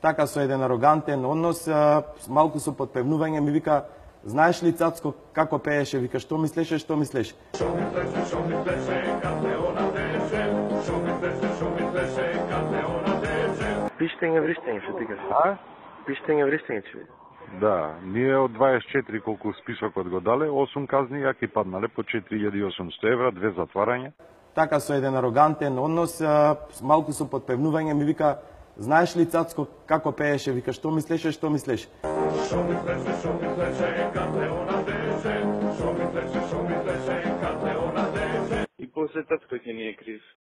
така со еден арогантен однос, малку со подпевнување ми вика: знаеш ли, Цацко, како пееше? Вика: што мислеше, што мислеше? Што мислеше, кад она тече, што мислеше, кад она тече. Пиштење вриштење, што ти кажеш? А? Пиштење вриштење, че. Да, ние од 24 колку списокот го дале, 8 казни ја ки паднале по 4800 евра, 2 затварања. Така со еден арогантен однос, малку со подпевнување ми вика: знаеш ли, Цацко, како пееше? Вика: што мислеше, што мислеше? Што мислеше, кад она тече, што мислеше, кад она тече. И после Цацко ќе ни е крив.